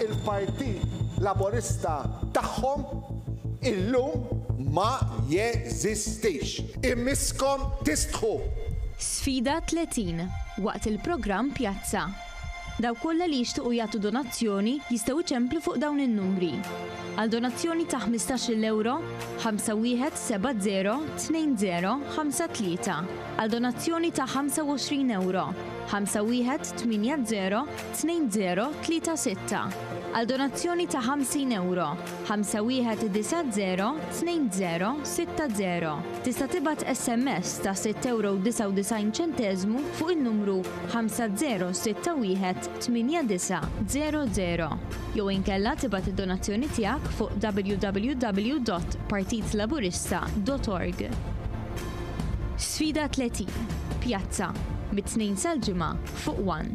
il-Partit Laburista tagħhom illum ma jeżistix. Imisskom tistħu! Sfida 30, waqt il-programm Pjazza. Dawk kollha li jixtiequ jagħtu donazzjoni jistgħu jċemplu fuq dawn in-numri. Għal donazzjoni ta' ħmistax-il ewro, 5170 2053. Għal donazzjoni ta' 25 ewro, 5180 2036. Għal donazzjoni ta' 50 ewro, 5190 2060. Tista' tibgħat SMS ta' sitt ewro u 99 ċenteżmu fuq in-numru 5061 8900 jew inkella tibgħat id-donazzjoni tiegħek fuq www.partitlaburista.org. Sfida 30, Pjazza, mit-Tnejn sal-Ġimgħa fuq One.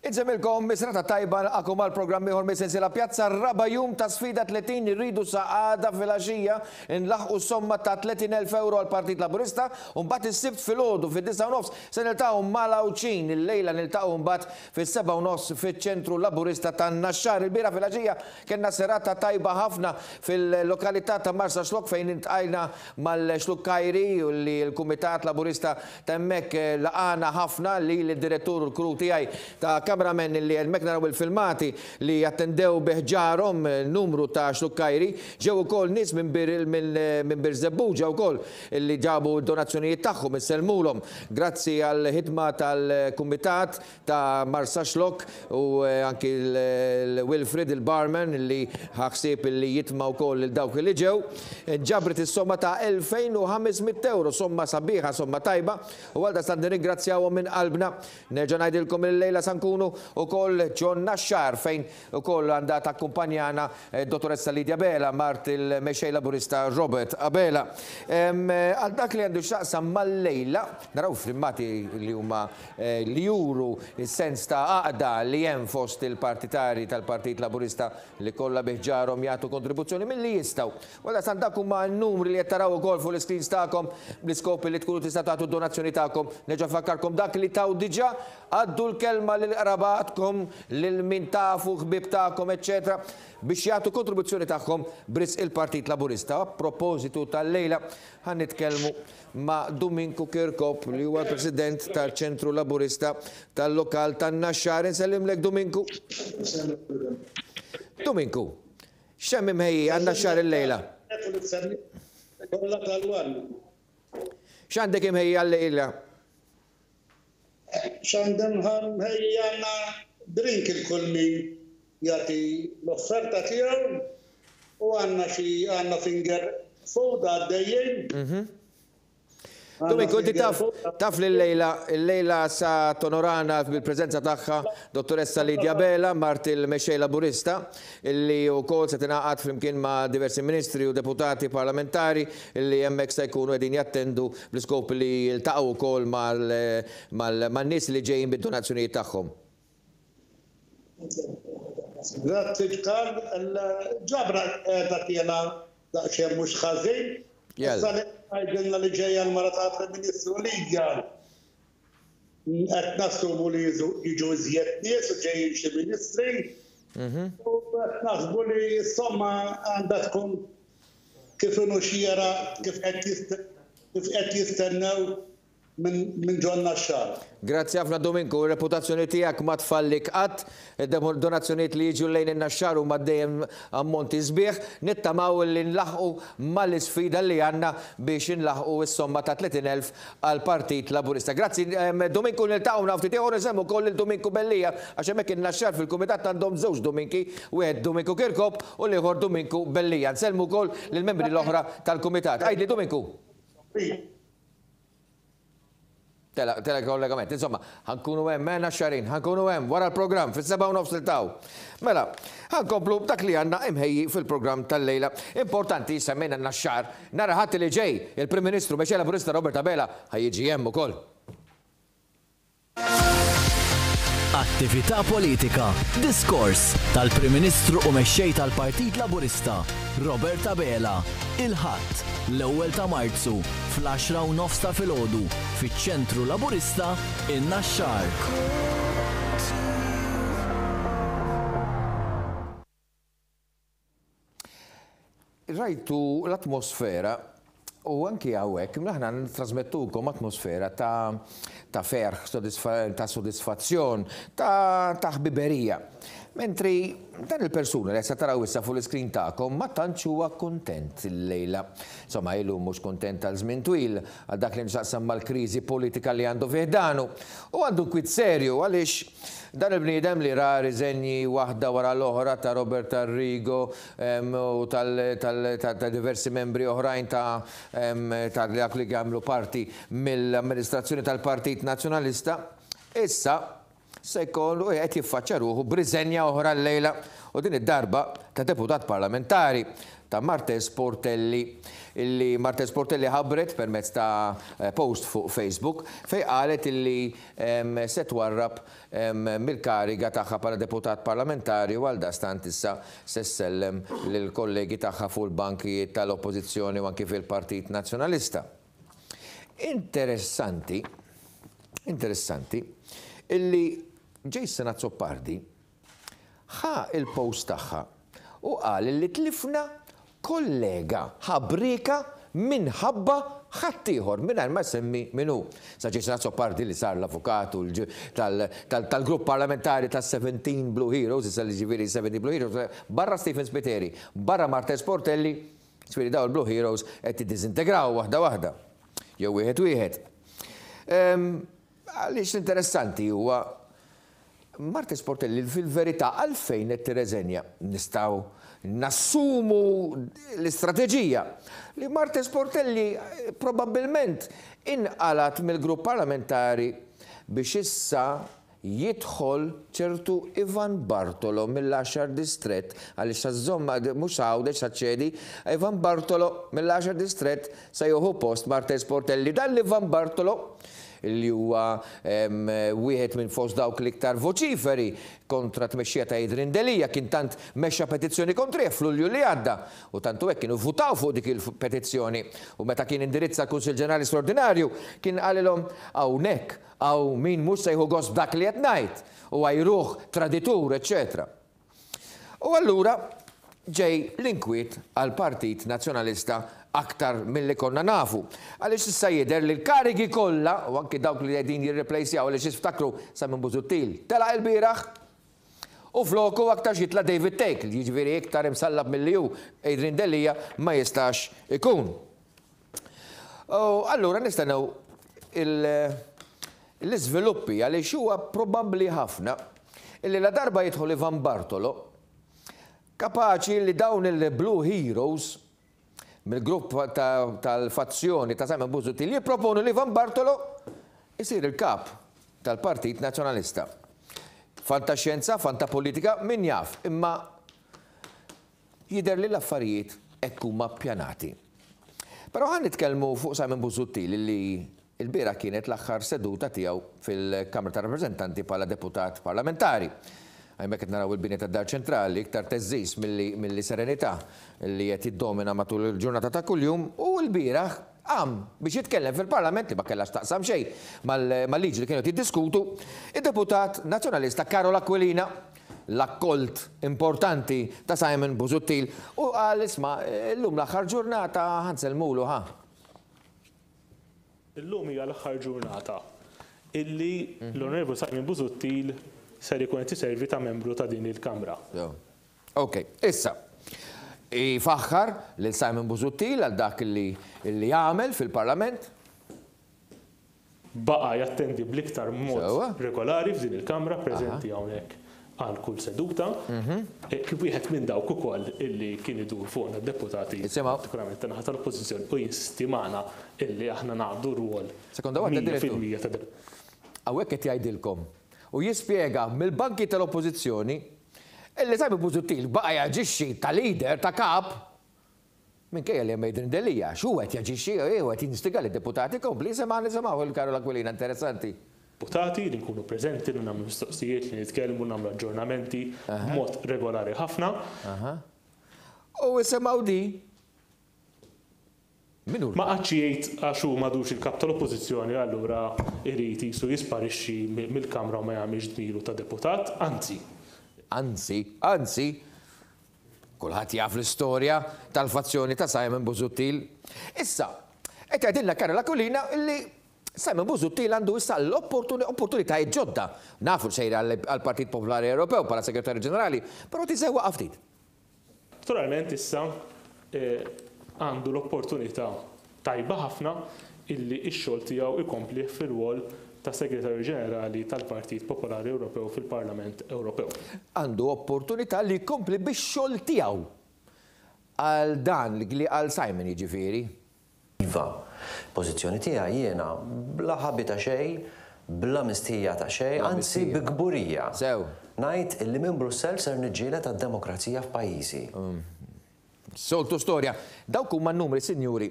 Insellmilkom, serata tajba nilqagħkom għal programm ieħor mis-sensiela Pjazza raba' jum ta' sfida 30 irridu sa għada filgħaxija nlaħqu somma ta' 30,000 euro għal Partit Laburista u mbagħad is-Sibt filgħodu fid-9:30 se niltaqgħu mal-Għawdxin illejla niltaqgħu mbagħad fis-7:30 fiċ-Ċentru Laburista tan-Naxxar. Il-bieraħ filgħaxija kellna serata tajba ħafna fil-lokalità ta' Marsaxlokk fejn iltqajna mal-Xlukkajri li l-Kumitat Laburista ta' hemmhekk laqagħna ħafna lili d-direttur u l-crew tiegħi ta' cameramen li hemmhekk naraw il-filmati li attendew bi ħġarhom numru ta' Xlukkajri. Ġew ukoll nies minn minn Birżebbuġa wkoll li ġabu d-donazzjonijiet tagħhom insellmulhom. Grazzi għall-ħidma tal-Kumitat ta' Marsaxlokk u anki l-Wilfred il-barman li ħa ħsieb li jitma' wkoll lil dawk li ġew. Ġabret is-somma ta' 2,500 ewro, somma sabiħa, somma tajba u għaldaqstant nirringrazzjawhom minn qalbna. Nerġa' ngħidilkom li llejla sa nkunu wkoll ġo Naxxar fejn ukoll għandha takkumpanjana d-Dottoressa Lydia Abela, mart il-Mexxej Laburista Robert Abela. Għal dak li għandu x'jaqsam mal-lejla, naraw filmati li huma li juru s-sens ta' għaqda li hemm fost il-partitarji tal-Partit Laburista li kollha bi ħġarhom jagħtu kontribuzzjoni milli jistgħu. U għaldaqstant dak huma n-numri li qed taraw ukoll fuq l-iscreens tagħkom bl-iskop li tkunu tistgħu tagħtu d-donazzjoni tagħkom. Nerġa' nfakkarkom dak li taw diġà, għaddu l-kelma lil qrabatkom, lil min tafu, ħbieb tagħkom, eċċetera biex jagħtu kontribuzzjoni tagħhom b'risq il-Partit Laburista. A propositu tal-lejla ħa nitkellmu ma' Duminku Kirkop li huwa l-President tal-Ċentru Laburista tal-Lokal tan-Naxxar. Insellimlek Duminku. Duminku, x'hemm imħejji għan-Naxxar illejla? X'għandek imħejji għal-lejla? X'għandem mħejji għandna drink il kull min jagħti l-offerta tiegħu u għandna xi għandna finger food għaddejjin. Domenico, inti taf, taf li llejla, illejla sa tonorana bil-preżenza tagħha Dottoressa Lydia Abela, mart il-Mexxej Laburista, illi wkoll se tingħaqad flimkien ma' diversi ministri u deputati parlamentari illi hemmhekk se jkunu qegħdin jattendu bl-iskop li jiltaqgħu wkoll man-nies li ġejjin bid-donazzjonijiet tagħhom. Grazzi Karl, il-ġabra qiegħda tiela' daqsxejn mhux ħażin. Issa li tgħidilna li ġejja l-mara tal-Prim Ministru Lydia, qed nassumu li jiġu iżjed nies u ġejjin xi ministri. U qed naħsbu li s-somma għandha tkun kif inhu xieraq kif qed jistennew minn ġo n-Naxxar. Grazzi ħafna Duminku, ir-reputazzjoni tiegħek ma tfallik qatt, id-donazzjonijiet li jiġu lejn in-Naxxar huma dejjem ammonti sbieħ, nittamaw li nlaħħqu mal-isfida li għandna biex inlaħħqu s-somma ta' 30,000 għall-Partit Laburista. Grazzi Duminku niltaqgħu minn hawn ftit ieħor insemmu wkoll lil Duminku Bellia għax hemmhekk in-Naxxar fil-kumitat għandhom żewġ Duminki, wieħed Duminku Kirkop u l-ieħor Duminku Bellia. Nsellmu wkoll lill-membri l-oħra tal-kumitat. Għidli Duminku. Tela, tela kollegament. Insomma, ħa nkunu hemm, eh, Naxxarin, ħa nkunu hemm wara l-programm fis-7:30 niltaqgħu. Mela, ħa nkomplu b'dak li għandna imħejji fil-programm tal-lejla. Importanti, semmejna n-Naxxar, nhar il-Ħadd li ġej, il-Prim Ministru Mexxej Laburista Robert Abela ħa jiġi hemm ukoll. Attività politika, diskors tal-Prim Ministru u Mexxej tal-Partit Laburista, Robert Abela, il-Ħadd, l-ewwel ta' Marzu, fl-għaxra u nofs ta' filgħodu, fiċ-Ċentru Laburista, in-Naxxar. Rajtu l-atmosfera u anki hawnhekk aħna nittrasmettukom atmosfera ta' ta' ferħ, ta' sodisfazzjon, ta' ta' ħbiberija. Mentri dan il-persuna li se taraw issa fuq l-iskrin tagħkom ma tantx huwa kuntent illejla. Insomma ilu mhux kuntent għal żmien twil għal dak li nxaqsam mal-kriżi politika li għandu fi ħdanu. U għandu kwiet serju għaliex Dan il-bniedem li ra riżenji waħda wara l-oħra ta' Robert Arrigo u ta' diversi membri oħrajn ta' dak li jagħmlu parti mill-amministrazzjoni tal-Partit Nazzjonalista, issa se jkollu qed jiffaċċja ruħu b'riżenja oħra llejla u din id-darba ta' deputat parlamentari ta' Marthese Portelli illi Marthese Portelli ħabbret permezz ta' post fuq Facebook fejn qalet illi se twarrab mill-kariga tagħha bħala deputat parlamentari u għaldaqstant issa se ssellem lill-kollegi tagħha fuq il-bankijiet tal-Oppożizzjoni u anki fil-Partit Nazzjonalista. Interessanti, interessanti, illi Jason Azzopardi ħa l-post tagħha u qal li tlifna kollega ħabrieka minħabba ħaddieħor mingħajr ma jsemmi min hu. Sa Jason Azzopardi li sar l-avukat tal-grupp parlamentari tas-17 Blue Heroes, issa li ġifieri 17 Blue Heroes, barra Stephen Spiteri, barra Marthese Portelli, ġifieri dawn il-Blue Heroes qed jiddiżintegraw waħda waħda jew wieħed wieħed. Għaliex l-interessanti huwa Marthese Portelli fil-verità għalfejn qed tirreżenja? Nistgħu nassumu l-istrateġija li Marthese Portelli probabbilment inqalgħet mill-grupp parlamentari biex issa jidħol ċertu Ivan Bartolo mill-għaxar distrett għaliex sa żżomm mhux sa Għawdex sa ċċedi Ivan Bartolo mill-għaxar distrett se jieħu post Marthese Portelli. Dan l-Ivan Bartolo li huwa wieħed minn fost dawk l-iktar voċiferi kontra t-tmexxija ta' Adrian Delia, kien tant mexxa petizzjoni kontrih f'Lulju li għadda u tant hu hekk kienu vvutaw fuq dik il-petizzjoni u meta kien indirizza l-Kunsill Ġenerali Straordinarju kien qalilhom hawnhekk hawn min mhux se jieħu gost b'dak li qed ngħid u għajruh traditur eċċetera. U allura ġej l-inkwiet għall-Partit Nazzjonalista aktar milli konna nafu. Għaliex issa jidher li l-karigi kollha, u anki dawk li qegħdin jirreplejsjaw għaliex iftakru Simon Busuttil telaq ilbieraħ u floku aktarx jitla' David Thake, jiġifieri iktar imsallab milli hu Adrian Delia ma jistax ikun. U allura nistennew l-iżviluppi għaliex huwa probabbli ħafna illi ladarba jidħol Ivan Bartolo, kapaċi li dawn il-Blue Heroes mill-grupp tal-fazzjoni ta' Simon Busuttil jipproponu li Ivan Bartolo jsir il-kap tal-Partit Nazzjonalista. Fantaxjenza, fantapolitika, min jaf, imma Jidher li l-affarijiet hekk huma ppjanati. Però ħa nitkellmu fuq Simon Busuttil li lbieraħ kienet l-aħħar seduta tiegħu fil-Kamra tar-Rappreżentanti bħala deputat parlamentari. Hemmhekk qed naraw il-bini tad-Dar Ċentrali, iktar theżżiż milli serenità li qed jiddomina matul il-ġurnata ta' kuljum u lbieraħ qam biex jitkellem fil-Parlament li ma kellha x'taqsam xejn mal-liġi li kienu qed jiddiskutu, id-deputat Nazzjonalista Karol Aquilina l-akkolt importanti ta' Simon Busuttil u qal isma' illum l-aħħar ġurnata ħa nsellmulu ħa. Illum hija l-aħħar ġurnata illi l-Onorevoli Simon Busuttil ser ikun qed iservi ta' membru ta' din il-Kamra. Ok, issa, ifaħħar lil Simon Busuttil għal dak li għamel fil-Parlament. Baqa' jattendi bl-iktar mod regolari f'din il-Kamra, preżenti hawnhekk għal kull seduta. Kien wieħed minn dawk ukoll illi kien idur fuqna d-deputati, partikolarment tan-naħa tal-Oppożizzjoni, u jinsisti magħna illi aħna naqdu rwol 100% ta' deputati. Hawnhekk qed jgħidilkom u jispjega mill-banki tal-Oppożizzjoni illi Simon Busuttil baqa' jaġixxi ta' leader, ta' kap, Minkejja li hemm Adrian Delia, għax hu qed jaġixxi, hu qed jinstiga lid-deputati, kompli, isimgħa nisimgħu lil Karol Aquilina, interessanti. Deputati, li nkunu preżenti, li nagħmlu mistoqsijiet, li nitkellmu, nagħmlu aġġornamenti b'mod regolari ħafna. U isimgħu di. Min hu Ma qagħadx jgħid għax hu m'għadux il-Kap tal-Oppożizzjoni allura jrid qisu jisparixxi mill-Kamra u ma jagħmilx dmiru ta' deputat, anzi. Anzi, anzi, kulħadd jaf l-istorja tal-fazzjoni ta' Simon Busuttil. Issa, qed jgħidilna Karol Aquilina li Simon Busuttil għandu issa l-opportunitajiet ġodda. Nafu li sejra għall-Partit Popolari Ewropew bħala Segretarju Ġenerali, però tiżewwaqha ftit. Naturalment issa għandu l-opportunità tajba ħafna illi x-xogħol tiegħu jkomplih fir-rwol ta' Segretarju Ġenerali tal-Partit Popolari Ewropew fil-Parlament Ewropew. Għandu opportunità li jkompli bix-xogħol tiegħu għal dan li qal Simon jiġifieri. Iva. Pożizzjoni tiegħi jiena bla ħabi ta' xejn, bla mistħija ta' xejn, anzi bi kburija. Sew. Ngħid illi minn Brussell ser niġġieled għad-demokrazija f'pajjiżi. Soltu storja. Dawk huma n-numri, sinjuri.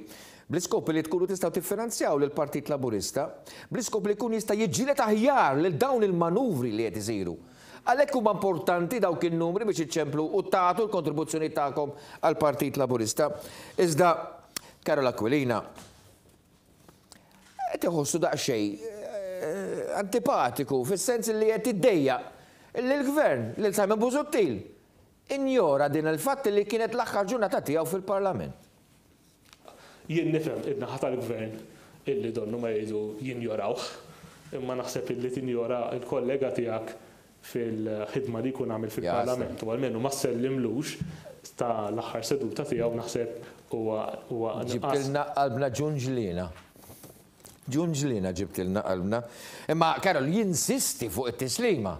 Bl-iskop li tkunu tistgħu tiffinanzjaw lill-Partit Laburista, bl-iskop li jkun jista' jiġġieled aħjar lil dawn il-manuvri li qed isiru. Għalhekk huma importanti dawk in-numri biex iċċemplu u tagħtu l-kontribuzzjoni tagħkom għall-Partit Laburista. Iżda Karol Aquilina qed iħossu daqsxejn antipatiku fis-sens li qed jiddejjaq li l-Gvern, lil Simon Busuttil, injora din il-fatt li kienet l-aħħar ġurnata tiegħu fil-Parlament. Jien nifhem in-naħa tal-Gvern illi donnu ma jridu jinjorawh, imma naħseb illi tinjora l-kollega tiegħek fil-ħidma li jkun għamel fil-Parlament u almenu ma ssellimlux ta' l-aħħar seduta tiegħu naħseb huwa huwa nuqqas. Ġibtilna qalbna ġunġliena. Ġunġliena ġibtilna qalbna. Imma Karol jinsisti fuq it-tislima.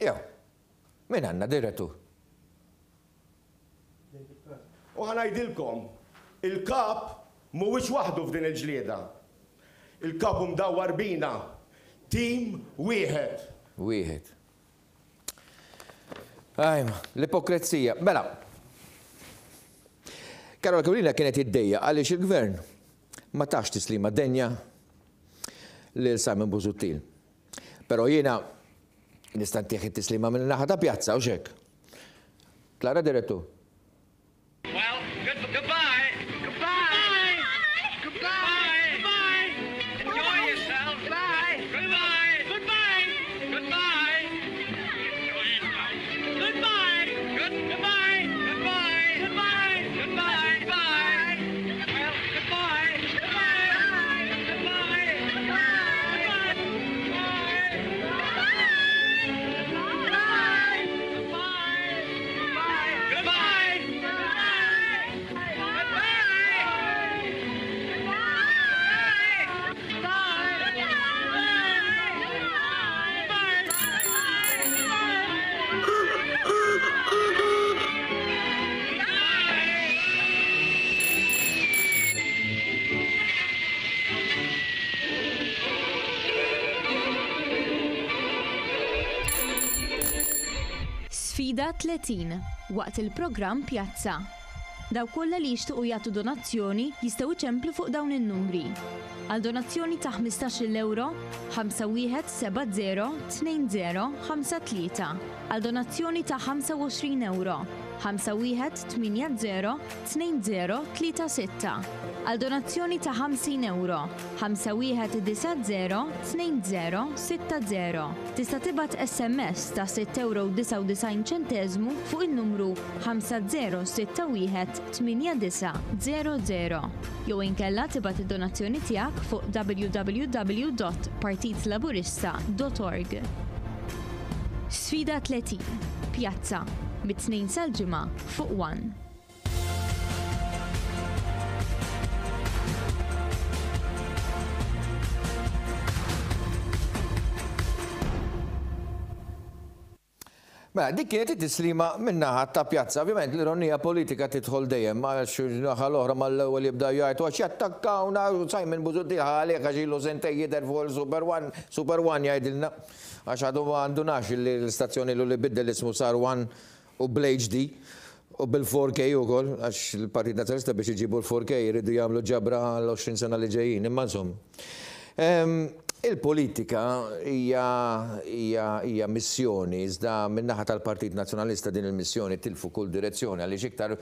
Jew, min għandna direttur? U ħa ngħidilkom, il-Kap mhuwiex waħdu f'din il-ġlieda. Il-Kap hu mdawwar bina, tim wieħed. Wieħed. Ajma, l-ipokrezija. Mela, Karol Aquilina kienet jiddejjaq għaliex il-Gvern ma tax tislima denja lil Simon Busuttil. Però jiena nista' ntih it-tislima min-naħa ta' Pjazza, hux hekk? Klara Direttur. Well, good, goodbye. Goodbye. Goodbye. Goodbye. Enjoy yourself. Bye. Goodbye. Goodbye. Goodbye. Goodbye. Good, goodbye. Goodbye. Goodbye. Goodbye. Bye. Well, goodbye. Goodbye. Goodbye. Sfida 30, waqt il-programm Pjazza. Dawk kollha li jixtiequ jagħtu donazzjoni jistgħu jċemplu fuq dawn in-numri. Għal donazzjoni ta' ħmistax-il ewro, 5170 2053. Għal donazzjoni ta' 25 ewro, 5180 2036. Għal donazzjoni ta' 50 ewro, 5190 2060. Tista' tibgħat SMS ta' sitt ewro u 99 ċenteżmu fuq in-numru 5061 8900 jew inkella tibgħat id-donazzjoni tiegħek fuq www.partitlaburista.org. Sfida 30, Pjazza, mit-Tnejn sal-Ġimgħa fuq One. Mela, dik kienet it-tislima min-naħa ta' Pjazza. Ovvjament l-ironija politika tidħol dejjem għax naħa l-oħra mal-ewwel jibda jgħid għax jattakkawna u Simon Busuttil ħa għalih għax ilu sentejn jidher fuq il-Super One, Super One jgħidilna għax għadu ma ndunax li l-istazzjon ilu li biddel ismu sar One u bl-HD u bil-4K ukoll għax il-Partit Nazzjonalista biex iġibu l-4K jridu jagħmlu ġabra għal 20 sena li ġejjin, imma insomma. Il-politika hija hija hija missjoni iżda min-naħa tal-Partit Nazzjonalista din il-missjoni tilfu kull direzzjoni għaliex iktar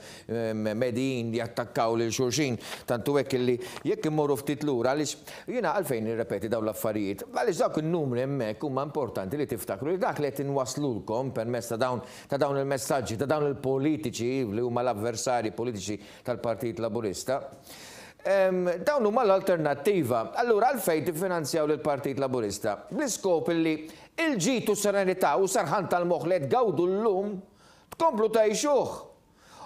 medijin jattakkaw lil xulxin tant hu hekk illi jekk immorru ftit lura għaliex jiena għalfejn nirrepeti dawn l-affarijiet għaliex dawk in-numri hemmhekk huma importanti li tiftakru li dak li qed inwasslulkom permezz ta' dawn ta' dawn il-messaġġi ta' dawn il-politiċi li huma l-avversarji politiċi tal-Partit Laburista. Dawn huma l-alternattiva. Allura għalfejn tiffinanzjaw lill-Partit Laburista? Bl-iskop illi l-ġid u s-serenità u s-serħan tal-moħħ li qed tgawdu llum tkomplu tgħixuh.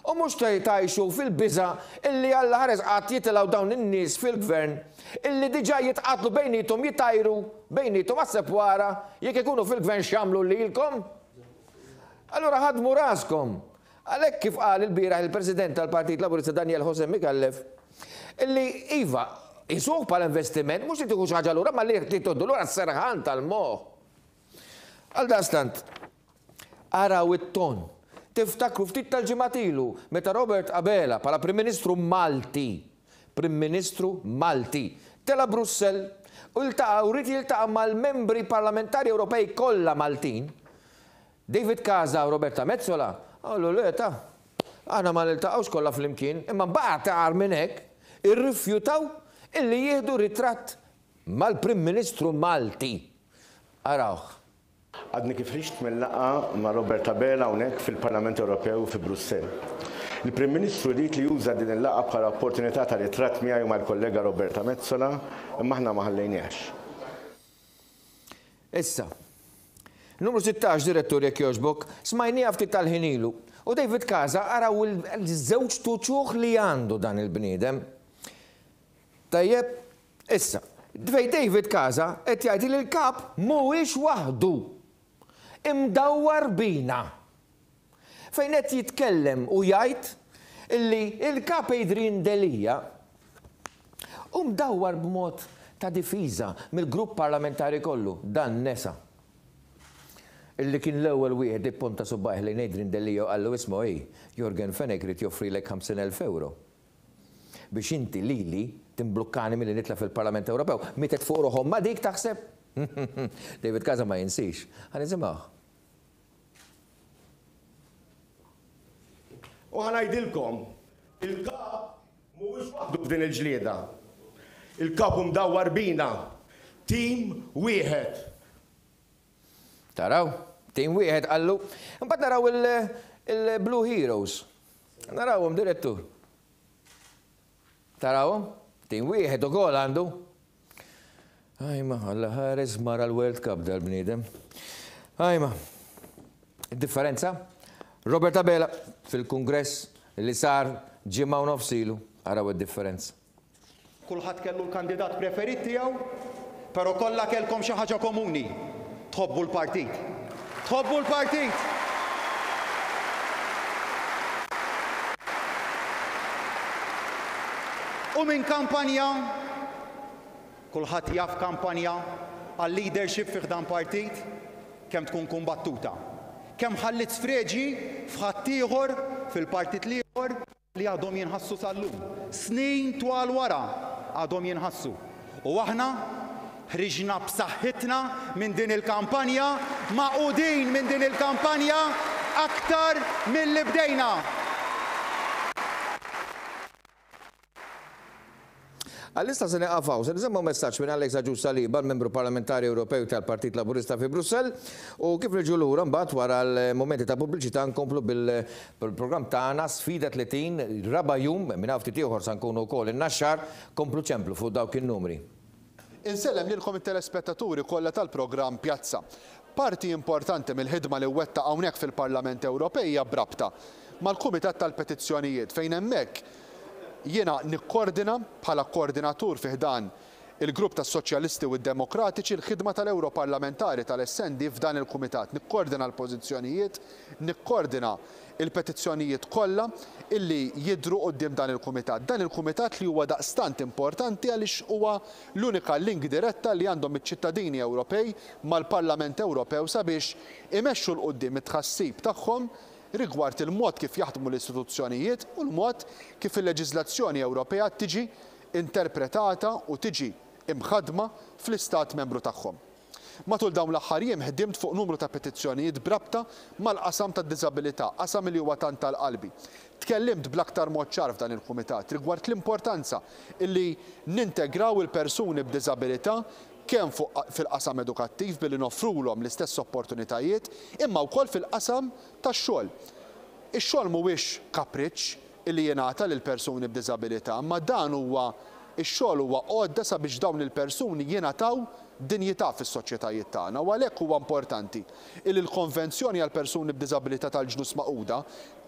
U mhux tgħixu fil-biża' illi Alla ħares qatt jitilgħu dawn in-nies fil-Gvern illi diġà jitqatlu bejniethom jitgħajru bejniethom aħseb u ara jekk ikunu fil-Gvern x'jagħmlu lilkom. Allura ħaddmu raskom. Għalhekk kif qal ilbieraħ il-President tal-Partit Laburista Daniel José Micallef, illi iva, qisuh bħala investiment, mhux li tieħu xi ħaġa lura, imma li tieħdu lura s-serħan tal-moħħ. Għaldaqstant, araw it-ton. Tiftakru ftit tal-ġimgħat ilu meta Robert Abela bħala Prim Ministru Malti, Prim Ministru Malti, tela' Brussell u ltaqa' u ried jiltaqa' mal-membri parlamentari Ewropej kollha Maltin, David Casa u Roberta Metsola qalu le ta, aħna ma niltaqgħux kollha flimkien, imma mbagħad agħar minn hekk, irrifjutaw illi jieħdu ritratt mal-Prim Ministru Malti. Arawh. Għadni kif ħriġt minn laqgħa ma' Robert Abela hawnhekk fil-Parlament Ewropew fi Brussell. Il-Prim Ministru ried li juża din il-laqgħa bħala opportunità ta' ritratt miegħi u mal-kollega Roberta Metsola, imma aħna ma ħallejniehx. Issa. Numru 16, Direttur jekk jogħġbok, smajnieha ftit tal-ħin ilu. U David Casa araw il-żewġt uċuħ li għandu dan il-bniedem. Tajjeb, issa, fejn David Casa qed jgħid li l-Kap mhuwiex waħdu. Imdawwar bina. Fejn qed jitkellem u jgħid illi l-Kap Adrian Delia hu mdawwar b'mod ta' difiża mill-grupp parlamentari kollu. Dan nesa illi kien l-ewwel wieħed li pponta subgħajh lejn Adrian Delia u qallu isma' ej, Yorgen Fenech ried joffrilek 50,000 ewro biex inti lili timblukkani milli nitla' fil-Parlament Ewropew. Mietet fuq ruħ ommha dik taħseb? David Casa ma jinsix. Ħa nisimgħuh. U ħa ngħidilkom, il-Kap mhuwiex waħdu f'din il-ġlieda. Il-Kap hu mdawwar bina, tim wieħed. Taraw? Tim wieħed qallu. Imbagħad naraw il-Blue Heroes. Narawhom, direttur. Tarawhom? Tim wieħed ukoll għandu. Ajma, Alla ħares mara l-World Cup dal-bniedem. Ajma. Id-differenza? Robert Abela fil-Kungress li sar ġimgħa u nofs ilu. Araw id-differenza. Kulħadd kellu l-kandidat preferit tiegħu, però kollha kellkom xi ħaġa komuni, tħobbu l-partit. Tħobbu l-partit! U minn kampanja, kulħadd jaf kampanja għal-leadership fi ħdan partit kemm tkun kumbattuta. Kemm ħalliet sfreġji f'ħaddieħor fil-partit l-ieħor li għadhom jinħassu sal-lum. Snin twal wara għadhom jinħassu. U aħna ħriġna b'saħħitna minn din il-kampanja, magħqudin minn din il-kampanja aktar milli bdejna. Għalissa se nieqaf hawn. Se nisimgħu messaġġ minn Alex Agius Saliba, l-Membru Parlamentari Ewropew tal-Partit Laburista fi Brussell, u kif niġu lura mbagħad wara l-mumenti ta' pubbliċità nkomplu bil-programm tagħna Sfida 30, raba' jum, minn hawn ftit ieħor sa nkunu wkoll in-Naxxar, komplu ċemplu fuq dawk in-numri. Insellem lilkom it-telespettaturi kollha tal-programm Pjazza. Parti importanti mill-ħidma li wettaq hawnhekk fil-Parlament Ewropej hija b'rabta mal-Kumitat tal-Petizzjonijiet fejn hemmhekk jiena nikkordina bħala koordinatur fi ħdan il-Grupp tas-Soċjalisti u d-Demokratiċi l-ħidma tal-Ewroparlamentari tal-SND f'dan il-Kumitat. Nikkordina l-pożizzjonijiet, nikkordina l-petizzjonijiet kollha illi jidhru quddiem dan il-Kumitat. Dan il-Kumitat li huwa daqstant importanti għaliex huwa l-unika link diretta li għandhom iċ-ċittadini Ewropej mal-Parlament Ewropew sabiex imexxu 'l quddiem it-tħassib tagħhom rigward il-mod kif jaħdmu l-istituzzjonijiet u l-mod kif il-leġiżlazzjoni Ewropea tiġi interpretata u tiġi imħaddma fl-Istat Membru tagħhom. Matul dawn l-aħħar jiem ħdimt fuq numru ta' petizzjonijiet b'rabta mal-qasam tad-diżabilità, qasam li huwa tant għal qalbi. Tkellimt bl-aktar mod ċar f'dan il-Kumitat rigward l-importanza li nintegraw il-persuni b'diżabilità kemm fuq fil-qasam edukattiv billi noffrulhom l-istess opportunitajiet imma wkoll fil-qasam tax-xogħol. Ix-xogħol mhuwiex kapriċċ li jingħata lil persuni b'diżabilità imma dan huwa ix-xogħol huwa għodda sabiex dawn il-persuni jingħataw dinjità fis-soċjetajiet tagħna u għalhekk huwa importanti illi l-Konvenzjoni għall-Persuni b'Diżabilità tal-Ġnus Magħquda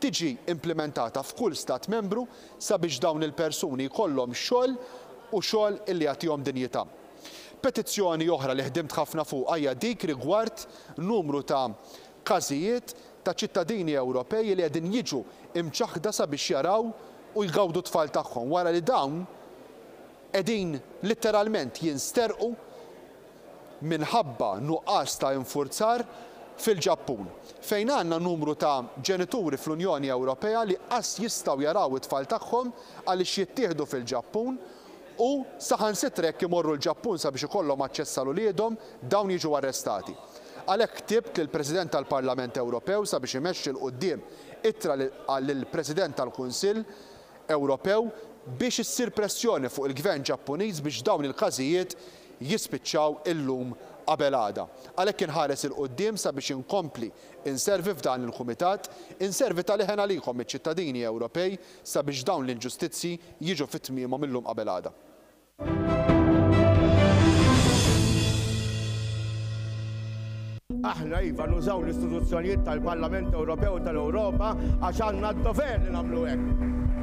tiġi implimentata f'kull Stat Membru sabiex dawn il-persuni jkollhom xogħol u xogħol illi jagħtihom dinjità. Petizzjoni oħra li ħdimt ħafna fuqha hija dik rigward numru ta' każijiet ta' ċittadini Ewropej li qegħdin jiġu imċaħħda sabiex jaraw u jgawdu t-tfal tagħhom wara li dawn qegħdin litteralment jinsterqu minħabba nuqqas ta' infurzar fil-Ġappun, fejn għandna numru ta' ġenituri fl-Unjoni Ewropea li qas jistgħu jaraw it-tfal tagħhom għaliex jittieħdu fil-Ġappun u saħansitra jekk imorru l-Ġappun sabiex ikollhom aċċess għal uliedhom, dawn jiġu arrestati. Għalhekk ktibt lill-President tal-Parlament Ewropew sabiex imexxi 'l quddiem ittra lill-President tal-Kunsill Ewropew biex issir pressjoni fuq il-Gvern Ġappuniż biex dawn il-każijiet jispiċċaw illum qabel għada. Għalhekk inħares 'il quddiem sabiex inkompli inservi f'dan il-Kumitat, inservi ta' leħen għalikom iċ-ċittadini Ewropej sabiex dawn l-inġustizzji jiġu fi tmiemhom illum qabel għada. Aħna iva nużaw l-istituzzjonijiet tal-Parlament Ewropew u tal-Ewropa għax għandna d-dover li nagħmlu hekk.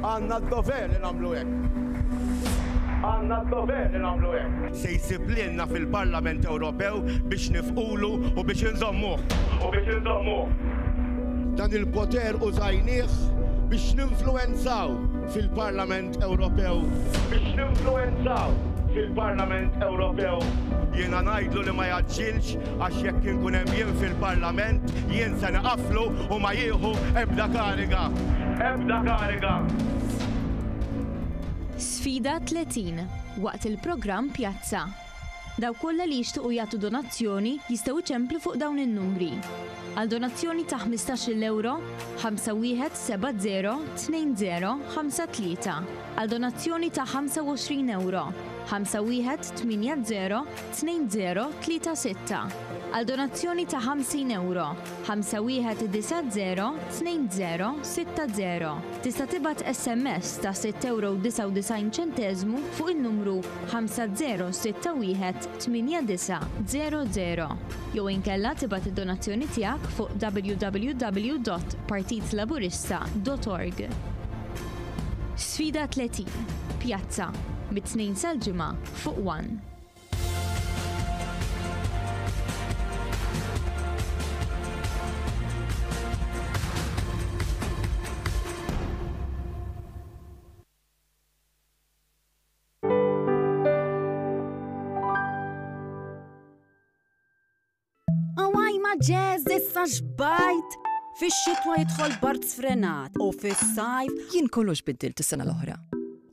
Għandna d-dover li nagħmlu hekk. Għandna d-dover li nagħmlu hekk. Se jsib lilna fil-Parlament Ewropew biex nifqulu u biex inżommuh. U biex inżommuh. Dan il-poter użajnieh biex ninfluwenzaw fil-Parlament Ewropew. Biex ninfluwenzaw fil-Parlament Ewropew. Jiena ngħidlu li ma jgħaġġilx għax jekk inkun hemm jien fil-Parlament, jien se niqaflu u ma jieħu ebda kariga. Ebda kariga. Sfida 30, waqt il-programm Pjazza. Dawk kollha li jixtiequ jagħtu donazzjoni jistgħu jċemplu fuq dawn in-numri. Għal donazzjoni ta' ħmistax-il ewro, 5170 2053. Għal donazzjoni ta' 25 ewro, 5180 2036. Għal donazzjoni ta' 50 ewro, 5190 2060. Tista' tibgħat SMS ta' 6 ewro u 99 ċenteżmu fuq in-numru 5061 8900 jew inkella tibgħat id-donazzjoni tiegħek fuq www.partitlaburista.org. Sfida 30, Pjazza, mit-Tnejn sal-Ġimgħa fuq One. Awaj ma ġez issa xbajt! Fix-xitwa jidħol bard sfrenat u fis-sajf. Jien kollox biddilt is-sena l-oħra.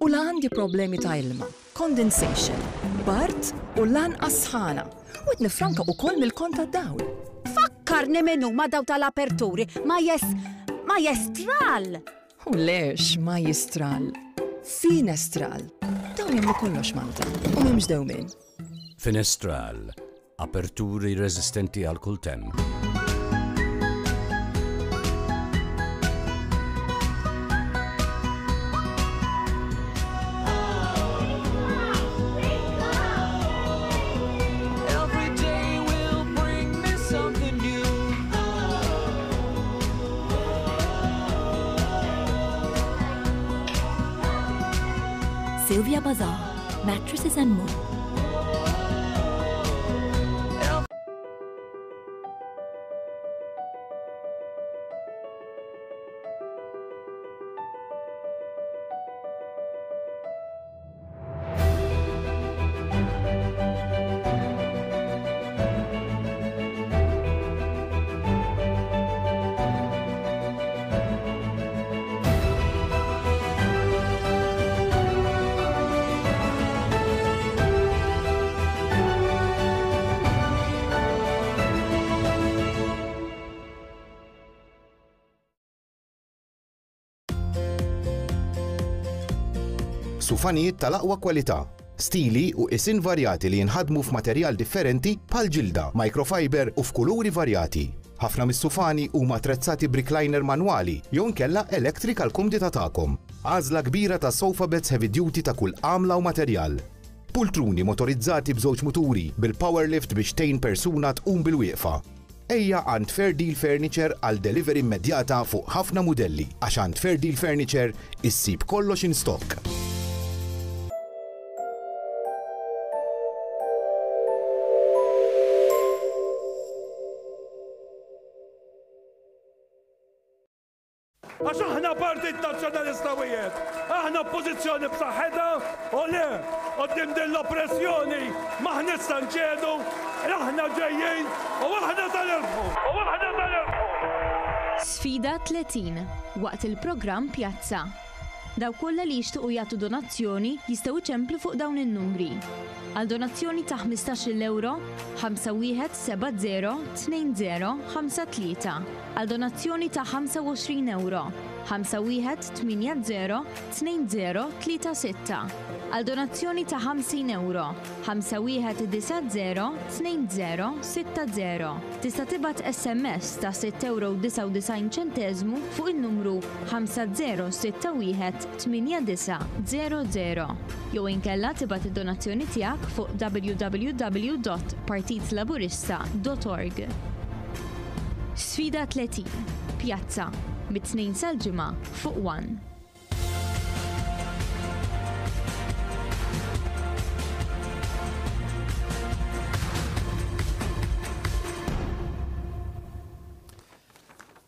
U la għandi problemi ta' ilma, condensation, bard u lanqas sħana. U qed nifranka ukoll mill-kont tad-dawl. Fakkarni min huma daw tal-aperturi, ma jes ma jestral! U lex ma jistral. Finestral. Dawn jagħmlu kollox Malta u m'hemmx dewmien. Finestral. Aperturi reżistenti għal kull temp. Every day will bring me something new. Sylvia Bazaar, mattresses and more. Sufanijiet tal-aqwa kwalità, stili u qisien varjati li jinħadmu f'materjal differenti bħal ġilda, microfiber u f'kuluri varjati. Ħafna mis-sufani huma attrezzati b'recliner manwali jew inkella electric għall-kumdità tagħkom. Għażla kbira ta' sofa beds heavy duty ta' kull għamla u materjal. Pultruni motorizzati b'żewġ muturi bil-power lift biex tgħin persuna tqum bilwieqfa. Ejja għand Fair Deal Furniture għal delivery immedjata fuq ħafna mudelli għax għand Fair Deal Furniture issib kollox in stock. Għax aħna Partit Nazzjonalista wieħed, aħna Oppożizzjoni b'saħħitha u le, quddiem din l-oppressjoni m'aħniex se nċedu, aħna ġejjin u aħna se nirbħu! U aħna se nirbħu! Sfida 30, waqt il-programm Pjazza. Dawk kollha li jixtiequ jagħtu donazzjoni jistgħu jċemplu fuq dawn in-numri. Għal donazzjoni ta' ħmistax-il ewro, 5170 2053. Għal donazzjoni ta' 25 ewro, 5180 2036. Għal donazzjoni ta' 50 ewro, 5190 2060. Tista' tibgħat SMS ta' 6,99 ċenteżmu fuq in-numru 5061 8900 jew inkella tibgħat id-donazzjoni tiegħek fuq www.partitlaburista.org. Sfida 30, Pjazza, mit-Tnejn sal-Ġimgħa fuq one.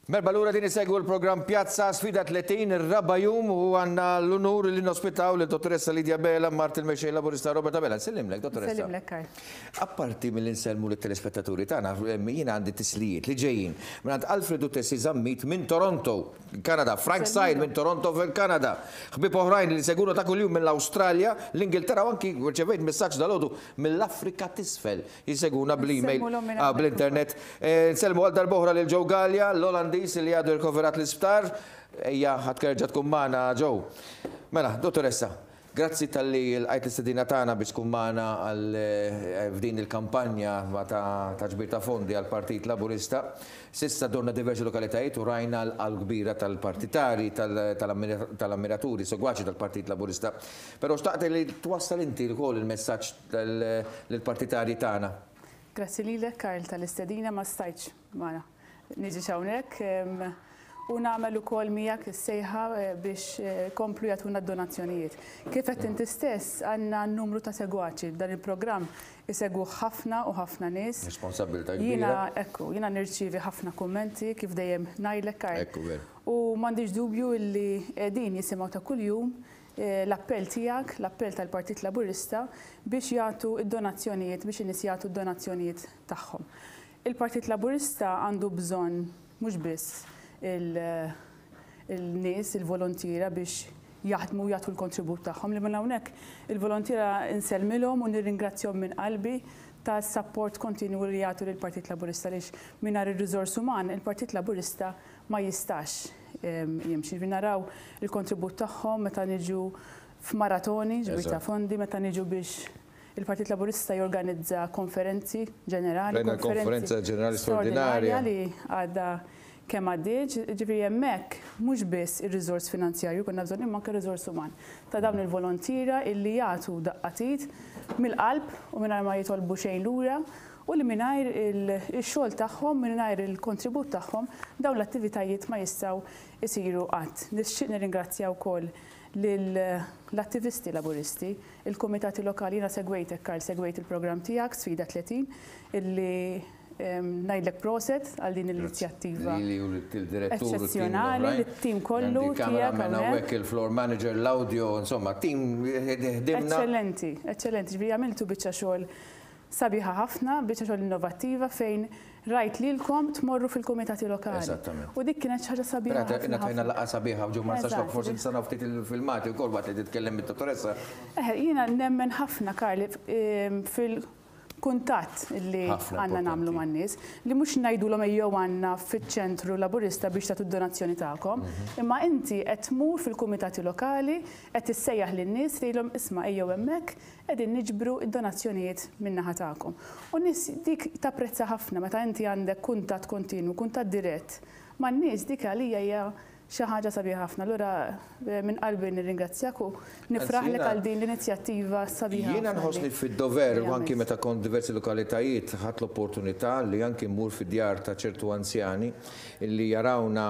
Merba lura din isegwu l-programm Pjazza Sfida 30 ir-raba' jum u għandna l-unur li nospitaw lil dottoressa Lidia Bela mart il-mexxej Laburista Robert Abela. Nsellimlek, dottoressa. Nsellimlek, Karl. Apparti milli nsellmu lit-telespettaturi tagħna, jiena għandi tislijiet li ġejjin mingħand Alfred u Tessie Zammit minn Toronto. Kanada, Frank Said minn Toronto fil-Kanada, ħbieb oħrajn li jsegwuna ta' kuljum mill-Awstralja, l-Ingilterra u anki rċevejt messaġġ dalgħodu mill-Afrika t'Isfel jsegwuna bl-email, bl-internet. Nsellmu għal darb'oħra lil Joe Galea, l-Olandiż li għadu rikoverat l-isptar. Ejja, ħa terġa' tkun magħna Joe. Mela, Dottoressa, Grazzi talli lqajt l-istedina tagħna biex tkun magħna għal f'din il-kampanja ta' ġbir ta' fondi għall-Partit Laburista. S'issa dorna diversi lokalitajiet u rajna l-qalb kbira tal-partitari, tal-ammiraturi, segwaċi tal-Partit Laburista. Però xtaqt li twassal inti wkoll il-messaġġ lill-partitarji tagħna. Grazzi lilek Karl tal-istedina ma stajtx ma niġix hawnhekk u nagħmel ukoll miegħek is-sejħa biex ikomplu jagħtuna d-donazzjonijiet. Kif għedt inti stess għandna numru ta' segwaċi, dan il-programm isegwuh ħafna u ħafna nies. Responsabbiltà kbira. Jiena ekku, jiena nirċievi ħafna kummenti kif dejjem ngħidlek Karl. Ekku veru. U m'għandix dubju illi qegħdin jisimgħu ta' kuljum l-appell tiegħek, l-appell tal-Partit Laburista biex jagħtu d-donazzjonijiet, biex in-nies jagħtu d-donazzjonijiet tagħhom. Il-Partit Laburista għandu bżonn mhux biss il-nies, il-volontiera biex jaħdmu u jagħtu l-kontribut tagħhom, li minn hawnhekk il-volontiera nsellmilhom u nirringrazzjahom minn qalbi tas-sapport kontinwu li jagħtu lill-Partit Laburista għaliex mingħajr ir-riżors uman il-Partit Laburista ma jistax jimxi. Jiġifieri naraw il-kontribut tagħhom meta niġu f'maratoni, ġbir ta' fondi, meta niġu biex Il-Partit Laburista jorganizza konferenzi ġenerali. Rajna l-konferenza ġenerali straordinarja. Li għadha kemm għaddiet, ġifieri hemmhekk mhux biss ir-riżors finanzjarju konna bżonn imma anke riżors uman ta' dawn il-volontiera illi jagħtu daqqa t'id mill-qalb u mingħajr ma jitolbu xejn lura u li mingħajr ix-xogħol tagħhom, mingħajr il-kontribut tagħhom dawn l-attivitajiet ma jistgħu jsiru qatt. Nixtieq nirringrazzja wkoll lill-attivisti Laburisti, il-kumitati lokali, jiena segwejtek Karl, segwejt il-programm tiegħek Sfida 30, illi ngħidlek proset għal din l-inizjattiva Lili u lid-direttur u eċċezzjonali, lit-tim kollu tiegħek hawnhekk. Il-floor manager, l-audio, insomma, tim ħdimna. Eċċellenti, eċċellenti, ġifieri għamiltu biċċa xogħol Sabiħa ħafna, biċċa xogħol innovattiva fejn rajt lilkom tmorru fil-kumitati lokali. Eżattament. U dik kienet xi ħaġa sabiħa ħafna. Però tajna laqgħa sabiħa ġo Marsaxlokk, forsi nista' naraw ftit il-filmati wkoll waqt li titkellem id-dottoressa. Eħe, jiena nemmen ħafna, Karl, fil. Il-kuntatt li għandna nagħmlu man-nies, li mhux ngħidulhom ejjew għandna fiċ-ċentru Laburista biex tagħtu d-donazzjoni tagħkom, imma inti qed tmur fil-kumitati lokali, qed issejjaħ lin-nies tgħidilhom isma' ejjew hemmhekk, qegħdin niġbru d-donazzjonijiet min-naħa tagħkom. U n-nies dik tapprezza ħafna meta inti għandek kuntatt kontinwu, kuntatt dirett man-nies, dik għalija hija Xi ħaġa sabiħa ħafna. Allura minn qalbi nirringrazzjak u nifraħlek għal din l-inizjattiva sabiħa. Jiena nħossni fid-dover u anki meta kont diversi lokalitajiet ħadt l-opportunità li anki mmur fid-djar ta' ċertu anzjani li jarawna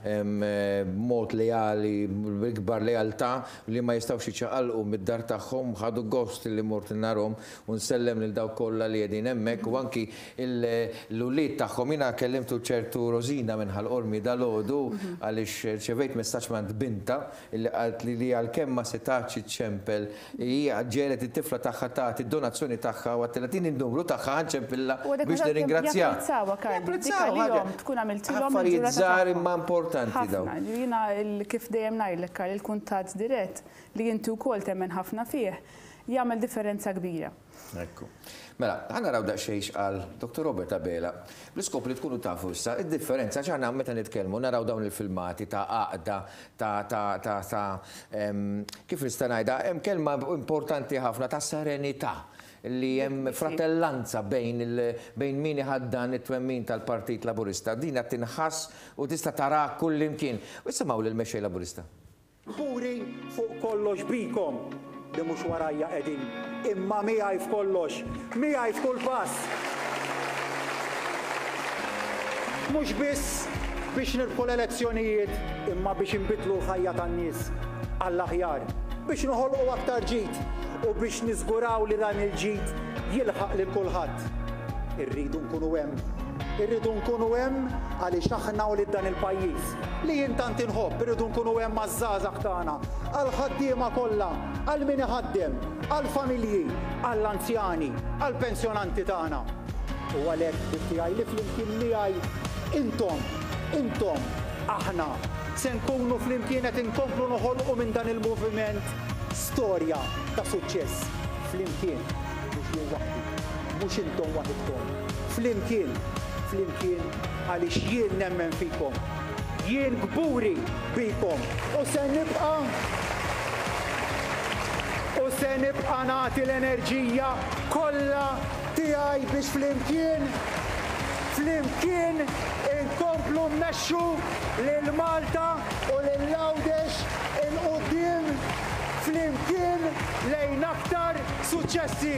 b'mod leali, bl-ikbar lealtà li ma jistgħux jiċċaqalqu mid-dar tagħhom, ħadu gost li mort narhom u nsellem lil dawk kollha li qegħdin hemmhekk u anki l-ulied tagħhom. Jiena kellimtu ċertu Rosina minn Ħal Qormi dalgħodu għaliex rċevejt messaġġ mingħand bintha li qaltli li għalkemm ma setgħetx iċċempel hi ġegħlet it-tifla tagħha tagħti d-donazzjoni tagħha u għedtilha tini n-numru tagħha ħa nċempilha biex nirringrazzjaha. Japprezzawha Karl, dik għalihom tkun għamiltilhom Affarijiet żgħar imma importanti dawn. Ħafna. Jiena kif dejjem ngħidlek Karl, il-kuntatt dirett li inti wkoll temmen ħafna fih, jagħmel differenza kbira. Ekku. Mela, ħa naraw daqsxejn x'qal Dottor Robert Abela, bl-iskop li tkunu tafu issa id-differenza għax aħna meta nitkellmu naraw dawn il-filmati ta' għaqda ta' ta' ta' ta' kif nista' ngħidha, hemm kelma importanti ħafna ta' serenità li hemm fratellanza bejn il bejn min iħaddan it-twemmin tal-Partit Laburista. Din qed tinħass u tista' taraha kullimkien. U isimgħu lill-Mexxej Laburista. Kburi fuq kollox bikom li mhux warajja qegħdin, imma miegħi f'kollox, miegħi f'kull pass. Mhux biss biex nirbħu l-elezzjonijiet imma biex inbiddlu l-ħajja tan-nies għall-aħjar, biex noħolqu aktar ġid u biex niżguraw li dan il-ġid jilħaq lil kulħadd. Irridu nkunu hemm. Irridu nkunu hemm għaliex aħna wlied dan il-pajjiż, li jien tant inħobb, irridu nkunu hemm għaż-żgħażagħ tagħna, għall-ħaddiema kollha, għal min iħaddem, għall-familji, għall-anzjani, għall-pensjonanti tagħna. U għalhekk ħbieb tiegħi li flimkien miegħi intom, intom, aħna, se nkunu flimkien qed inkomplu noħolqu minn dan il-moviment storja ta' suċċess. Flimkien, mhux jien waħdi. Mhux intom waħidkom. Flimkien, flimkien għaliex jien nemmen fikom. Jien kburi bikom u se nibqa' u se nibqa' nagħti l-enerġija kollha tiegħi biex flimkien, flimkien inkomplu mmexxu lil Malta u lil Għawdex 'il quddiem flimkien lejn aktar suċċessi.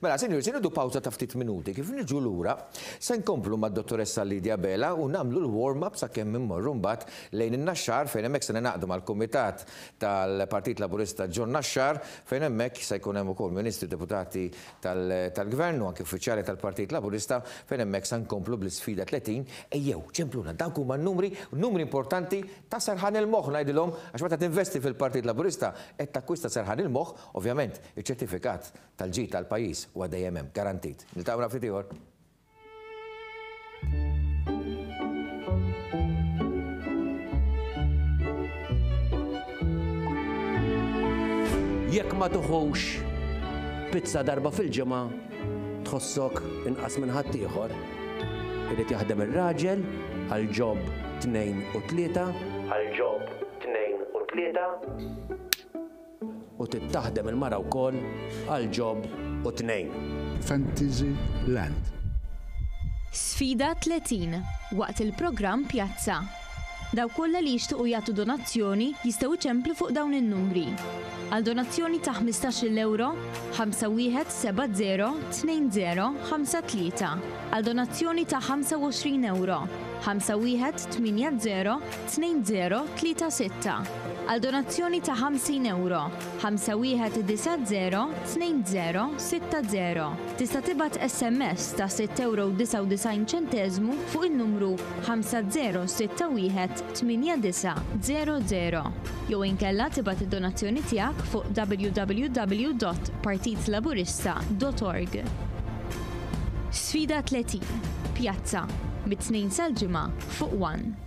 Mela, sinjuri, se nieħdu pawża ta' ftit minuti. Kif niġu lura, se nkomplu mad-Dottoressa Lydia Abela u nagħmlu l-warm-up sakemm immorru mbagħad lejn in-Naxxar fejn hemmhekk se ningħaqdu mal-Kumitat tal-Partit Laburista ġo Naxxar fejn hemmhekk se jkun hemm ukoll Ministri, Deputati tal-Gvern u anke uffiċjali tal-Partit Laburista fejn hemmhekk se nkomplu bl-isfida 30. Ejjew, ċempluna, dawk huma n-numri, numri importanti Ta' serħan il-moħħ ngħidilhom għax meta tinvesti fil-Partit Laburista qed takkwista serħan il-moħħ, ovvjament iċ-ċertifikat tal-ġid għall-pajjiż huwa dejjem hemm, garantit. Niltaqgħu wara ftit ieħor. Jekk ma tuħux pizza darba fil-ġimgħa tħossok inqas minn ħaddieħor. Irid jaħdem ir-raġel għal job tnejn u tlieta. Għal job tnejn u tlieta. U trid taħdem il-mara wkoll għal job u tnejn. Fantasy Land. Sfida 30, waqt il-programm Pjazza. Dawk kollha li jixtiequ jagħtu donazzjoni jistgħu jċemplu fuq dawn in-numri. Għal donazzjoni ta' ħmistax-il ewro, 51702053. Għal donazzjoni ta' 25 ewro, 51802036. Għal donazzjoni ta' 50 ewro, 51902060. Tista' tibgħat SMS ta' 6.99 ċenteżmu fuq in-numru 50618900 jew inkella tibgħat id-donazzjoni tiegħek fuq www.partitlaburista.org. Sfida 30, Pjazza, mit-Tnejn sal-Ġimgħa fuq one.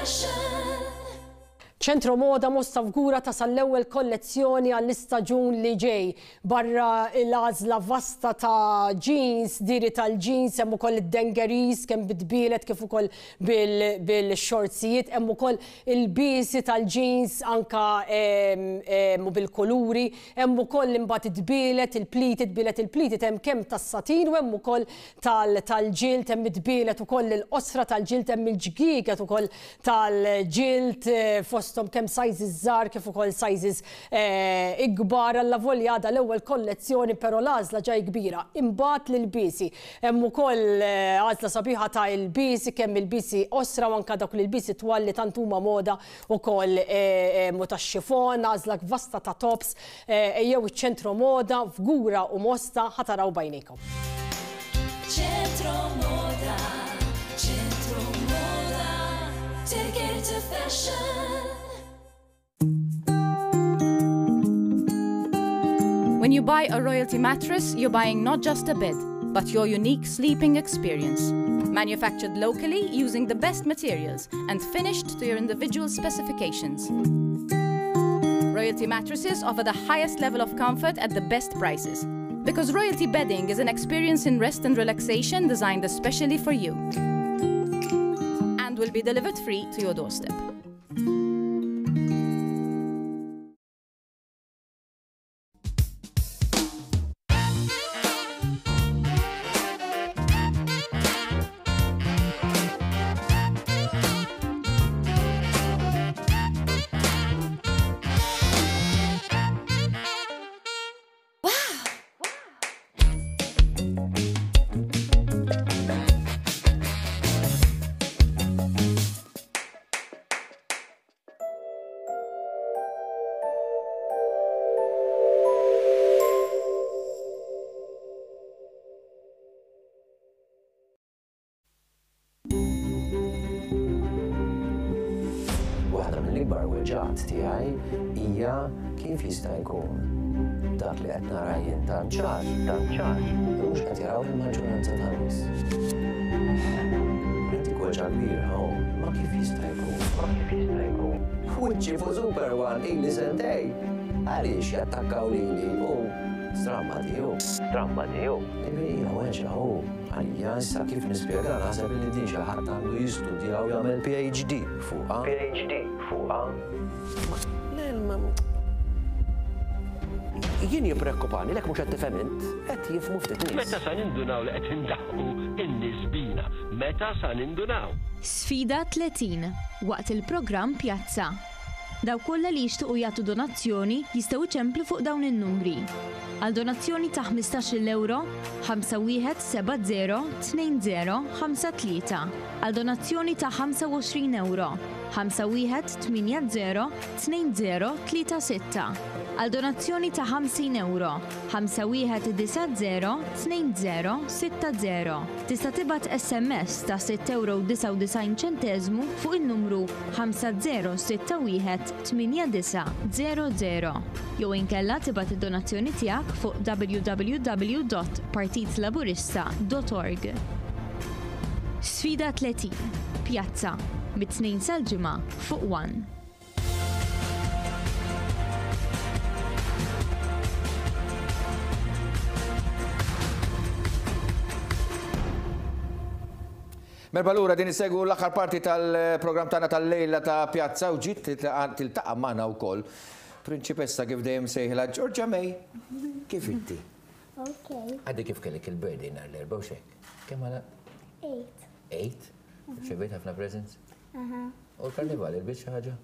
fashion. Ċentro Moda Mosta Fgura tasal l-ewwel kollezzjoni għall-istaġun li ġej. Barra l-għażla vasta ta' jeans, diri tal-jeans, hemm ukoll id-dungarees kemm bit-tbielet kif ukoll bil-xortsijiet, hemm ukoll ilbiesi tal-jeans anka u bil-kuluri, hemm ukoll imbagħad it-tbielet, il-pleated, tbielet il-pleated hemm kemm tas-satin u hemm ukoll tal-ġild, hemm it-tbielet ukoll il-qosra tal-ġild, hemm il-ġgieget ukoll tal-ġild fosthom kemm sizes żgħar kif ukoll sizes ikbar allavolja għadha l-ewwel kollezzjoni però l-għażla ġa hi kbira. Imbagħad l-ilbiesi. Hemm ukoll għażla sabiħa ta' ilbiesi kemm ilbiesi qosra u anke dawk l-ilbiesi twal li tant huma moda ukoll u tax-xifon, għażla vasta ta' tops. Ejjew iċ-Ċentro Moda f'Gura u Mosta ħa taraw b'għajnejkom. Ċentro Moda, Ċentro Moda, take it to fashion. When you buy a royalty mattress, you're buying not just a bed, but your unique sleeping experience. Manufactured locally using the best materials and finished to your individual specifications. Royalty mattresses offer the highest level of comfort at the best prices. Because royalty bedding is an experience in rest and relaxation designed especially for you. And will be delivered free to your doorstep. Waħda mill-ikbar weġgħat tiegħi hija kif jista' jkun dak li qed nara jien tant ċar, tant ċar, mhux qed jaraw il-maġġoranza tan-nies. Dik weġgħa kbira, oh, ma kif jista' jkun, ma kif jista' jkun. Wiċċi fuq Super One ili sentej. Għaliex jattakkaw lili u stramba tiegħu. Stramba tiegħu. Hija weġgħa hu. Għalija issa kif nispjega naħseb li din xi ħadd għandu jistudja u jagħmel PhD fuqha. PhD fuqha. Le, ma. Jien jippreokkupani lek mhux qed tifhem int, qed jifhmu ftit nies. Meta sa nindunaw li qed indaħħqu n-nies bina? Meta sa nindunaw? Sfida 30, waqt il-programm Pjazza. Dawk kollha li jixtiequ jagħtu donazzjoni jistgħu jċemplu fuq dawn in-numri. Għal donazzjoni ta' ħmistax-il ewro, 5170 2053. Għal donazzjoni ta' 25 ewro, 5180 2036. Għal donazzjoni ta' 50 ewro, 5190 2060. Tista' tibgħat SMS ta' 6 ewro u 99 ċenteżmu fuq in-numru 5061 8900 jew inkella tibgħat id-donazzjoni tiegħek fuq www.partitlaburista.org. Sfida 30, Pjazza, mit-Tnejn sal-Ġimgħa fuq One. Merħba lura din issegwu l-aħħar parti tal-programm tagħna tal-lejla ta' Pjazza u ġiet tiltaqa' magħna wkoll Prinċipessa kif dejjem sejħilha Georgia May. Kif inti? Ok. Għaddi kif kellek il-birthday nhar l-Erbgħa u xek? Kemm għala? 8. 8? Rċevejt ħafna presents? Aha. U l-karnival ilbist xi ħaġa?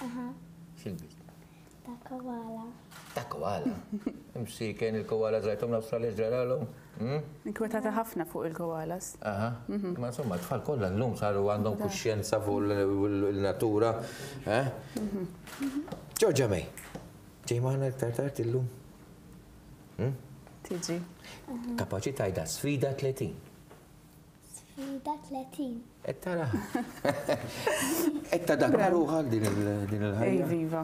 Aha. X'ilbist? Ta' koala. Ta' koala? Imsiken il-koala rajthom l-Awstralja ġralhom? Hmm? Inkwetata ħafna fuq il-koalas. Aha. Ma insomma, tfal kollha llum saru għandhom kuxjenza fuq il-natura. Eh? Georgia May, ġej magħna iktar tard illum? Hmm? Tiġi. Kapaċi tgħidha sfida 30. Sfida 30. Qed tara. Qed tadatta ruħak din il-ħajja. Iva.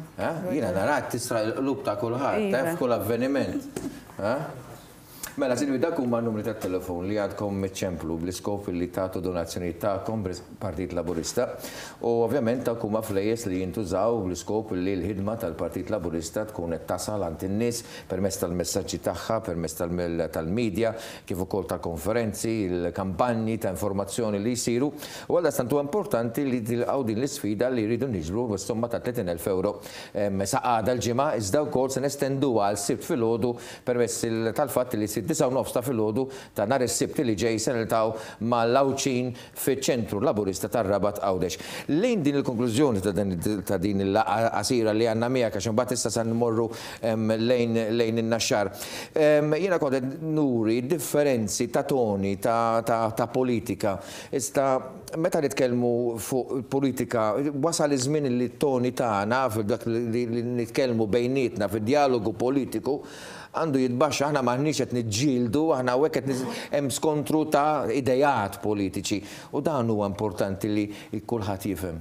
Jiena narak tisra l-qlub ta' kulħadd, eh, f'kull avveniment. Mela, sinjuri, dak huma n-numri tat-telefon li għadkom iċċemplu bl-iskop li tagħtu donazzjonijiet tagħkom b'Partit Laburista. U ovvjament dawk huma flejjes li jintużaw bl-iskop li l-ħidma tal-Partit Laburista tkun qed tasal għand in-nies permezz tal-messaġġi tagħha, permezz tal-media, kif ukoll tal-konferenzi, il-kampanji ta' informazzjoni li jsiru. U għaldaqstant huwa importanti li tilqgħu din l-isfida li rridu niġbru s-somma ta' 30,000 ewro sa għada l-Ġimgħa, iżda wkoll se nestenduha għal Sibt filgħodu Permezz tal-fatt li fid-disgħa u nofs ta' filgħodu ta' nhar is-Sibt li ġej se niltaqgħu mal-Għawdxin fiċ-Ċentru Laburista tar-Rabat Għawdex. Lejn din il-konklużjoni ta' din il-laqgħa qasira li għandna miegħek għax imbagħad issa se nmorru lejn lejn in-Naxxar. Jiena kont qed nuri differenzi ta' toni ta' politika. Iżda meta nitkellmu fuq politika, wasal iż-żmien li t-toni tagħna f'dak li nitkellmu bejnietna fid-djalogu politiku għandu jitbaxxa. Aħna m'aħniex qed niġġieldu, aħna hawnhekk qed hemm skontru ta' ideat politiċi u dan huwa importanti li kulħadd jifhem.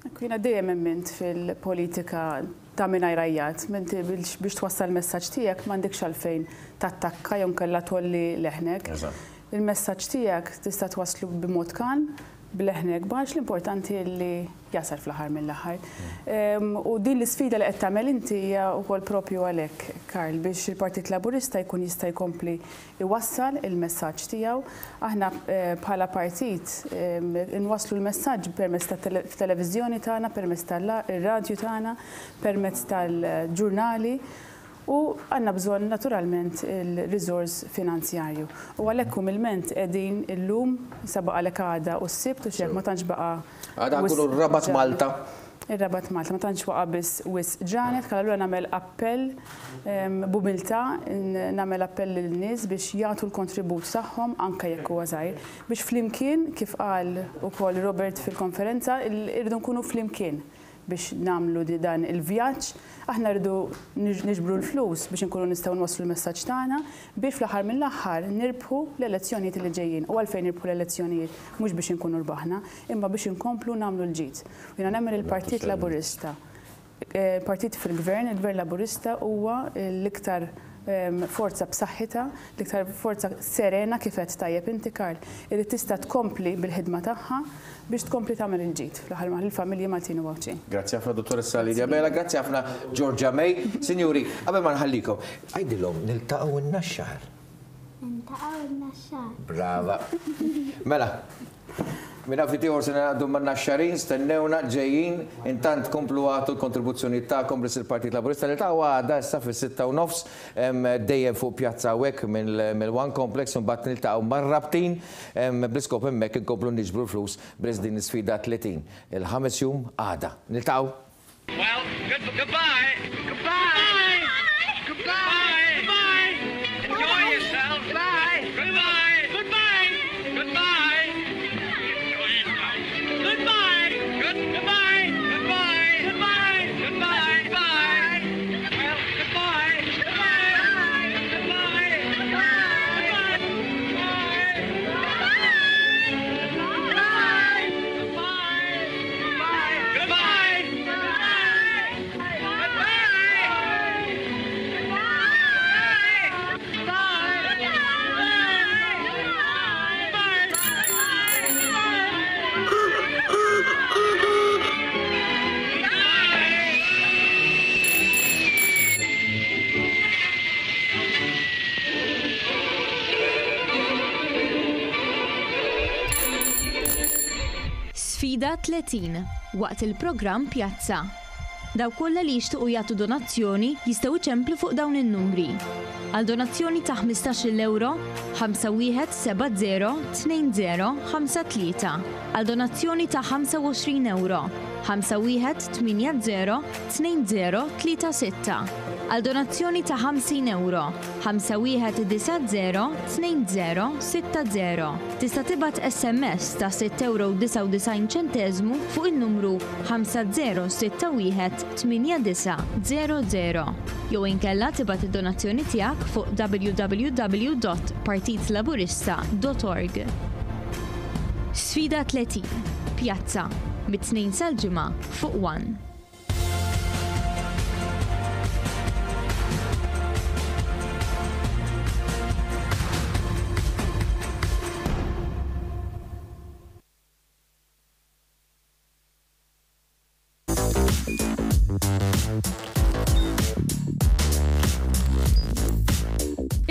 Ekku, jiena dejjem emmint fil-politika ta' mingħajr għajjat. Inti biex twassal il-messaġġ tiegħek m'għandekx għalfejn tattakka jew inkella tgħolli leħnek. Il-messaġġ tiegħek tista' twasslu b'mod kalm, b'leħnek baxx, l-importanti li jasal fl-aħħar mill-aħħar. U din l-isfida li qed tagħmel inti hija wkoll propju għalhekk, Karl, biex il-Partit Laburista jkun jista' jkompli jwassal il-messaġġ tiegħu. Aħna bħala partit inwasslu l-messaġġ permezz tat-televiżjoni tagħna, permezz tar-radju tagħna, permezz tal-ġurnali. U għandna bżonn naturalment il-riżors finanzjarju. U għalhekk umilment qegħdin illum, issa baqgħalek għada u s-Sibt u x'hekk ma tantx baqa' Għada nkunu r-Rabat Malta. Ir-Rabat Malta, ma tantx waqa' biss wisq ġranet, kalla allura nagħmel appell b'umiltà, nagħmel appell lin-nies biex jagħtu l-kontribut tagħhom anke jekk huwa żgħir, biex flimkien, kif qal ukoll Robert fil-konferenza, irridu nkunu flimkien. biex nagħmlu dan il-vjaġġ. Aħna rridu niġbru l-flus biex inkunu nistgħu nwasslu l-messaġġ tagħna biex fl-aħħar mill-aħħar nirbħu l-elezzjonijiet li ġejjin. U għalfejn nirbħu l-elezzjonijiet? Mhux biex inkunu rbaħna, imma biex inkomplu nagħmlu l-ġid. U jiena nemmen li l-Partit Laburista, partit fil-Gvern, il-Gvern Laburista huwa l-iktar forza b'saħħitha, l-iktar forza serena kif għedt tajjeb inti Karl, illi tista' tkompli bil-ħidma tagħha biex tkompli tagħmel il-ġid fl-aħħar mill-aħħar lill-familji Maltin u Għawdxin. Grazzi ħafna Dottoressa Lydia Abela, grazzi ħafna Georgia May. Sinjuri, qabel ma nħallikom, għidilhom niltaqgħu n-Naxxar. Niltaqgħu n-Naxxar. Brava. Mela, Minn hawn ftit ieħor se ningħaqdu man-Naxxarin, stennewna, ġejjin. Intant komplu agħtu l-kontribuzzjonijiet tagħkom b'risq il-Partit Laburista. Niltaqgħu għada issa fis-sitta u nofs, dejjem fuq pjazza hawnhekk mill-One Complex u mbagħad niltaqgħu mar-Rabtin bl-iskop hemmhekk inkomplu niġbru l-flus b'risq din l-isfida 30. Il-ħames jum għada. Niltaqgħu! Well, good, goodbye. Goodbye. Goodbye. Goodbye. Enjoy yourself. Bye. Goodbye. Goodbye. Goodbye. Goodbye. Good, goodbye. Goodbye. Goodbye. Goodbye. Bye. Well, goodbye. Goodbye. Goodbye. Goodbye. Goodbye. Sfida 30 waqt il-programm Pjazza. Dawk kollha li jixtiequ jagħtu donazzjoni jistgħu jċemplu fuq dawn in-numri. Għal donazzjoni ta' ħmistax-il ewro, 5170 2053. Għal donazzjoni ta' 25 ewro, 5180 2036. Għal donazzjoni ta' 50 ewro, 5190 2060. Tista' tibgħat SMS ta' 6,99 ċenteżmu fuq in-numru 5061 8900 jew inkella tibgħat id-donazzjoni tiegħek fuq www.partitlaburista.org. Sfida 30, Pjazza, mit-Tnejn sal-Ġimgħa fuq one.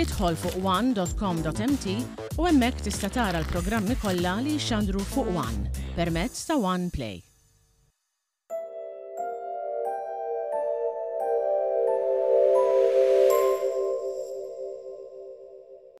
Idħol fuq one.com.mt u hemmhekk tista' tara l-programmi kollha li jixxandru fuq One permezz ta' One Play.